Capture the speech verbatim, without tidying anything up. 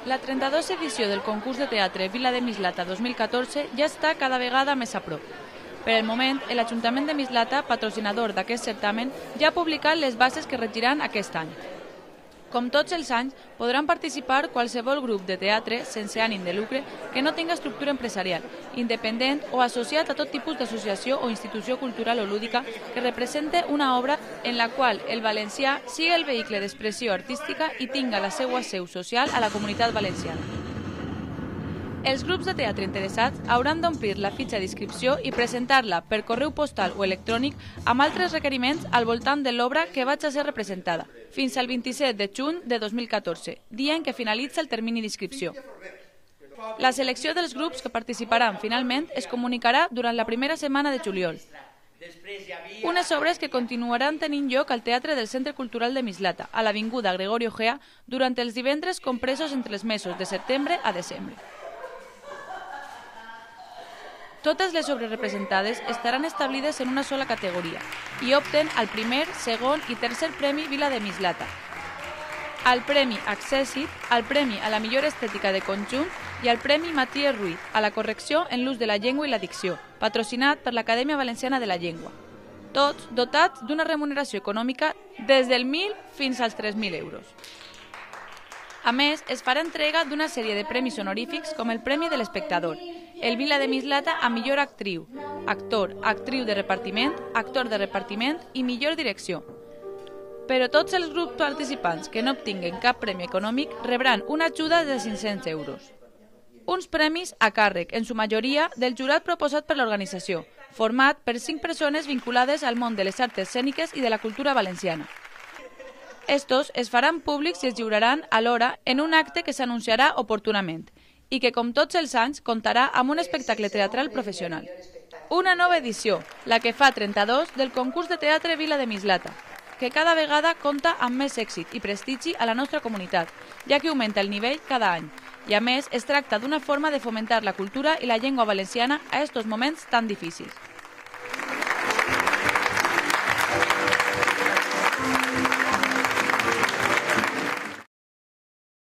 La trenta-dos edició del concurs de teatre Vila de Mislata dos mil catorze ja està cada vegada més a prop. Per el moment, l'Ajuntament de Mislata, patrocinador d'aquest certamen, ja ha publicat les bases que regiran aquest any. Com tots els anys, podran participar qualsevol grup de teatre sense ànim de lucre que no tinga estructura empresarial, independent o associat a tot tipus d'associació o institució cultural o lúdica que represente una obra en la qual el valencià sigui el vehicle d'expressió artística i tinga la seva seu social a la comunitat valenciana. Els grups de teatre interessats hauran d'omplir la fitxa d'inscripció i presentar-la per correu postal o electrònic amb altres requeriments al voltant de l'obra que vaig a ser representada, fins al vint-i-set de juny de dos mil catorze, dia en què finalitza el termini d'inscripció. La selecció dels grups que participaran finalment es comunicarà durant la primera setmana de juliol. Unes obres que continuaran tenint lloc al Teatre del Centre Cultural de Mislata, a l'avinguda Gregorio Gea, durant els divendres compresos entre els mesos de setembre a desembre. Totes les obres representades estaran establides en una sola categoria i opten al primer, segon i tercer Premi Vila de Mislata, al Premi Accèssit, al Premi a la millor estètica de conjunt i al Premi Matías Ruiz a la correcció en l'ús de la llengua i la dicció, patrocinat per l'Acadèmia Valenciana de la Llengua. Tots dotats d'una remuneració econòmica des del mil fins als tres mil euros. A més, es farà entrega d'una sèrie de premis honorífics com el Premi de l'Espectador, el Vila de Mislata a millor actriu, actor, actriu de repartiment, actor de repartiment i millor direcció. Però tots els grups participants que no obtinguen cap premi econòmic rebran una ajuda de cinc-cents euros. Uns premis a càrrec, en su majoria, del jurat proposat per l'organització, format per cinc persones vinculades al món de les arts escèniques i de la cultura valenciana. Estos es faran públics i es lliuraran alhora en un acte que s'anunciarà oportunament i que, com tots els anys, comptarà amb un espectacle teatral professional. Una nova edició, la que fa trenta-dos, del concurs de teatre Vila de Mislata, que cada vegada compta amb més èxit i prestigi a la nostra comunitat, ja que augmenta el nivell cada any. I a més, es tracta d'una forma de fomentar la cultura i la llengua valenciana a estos moments tan difícils.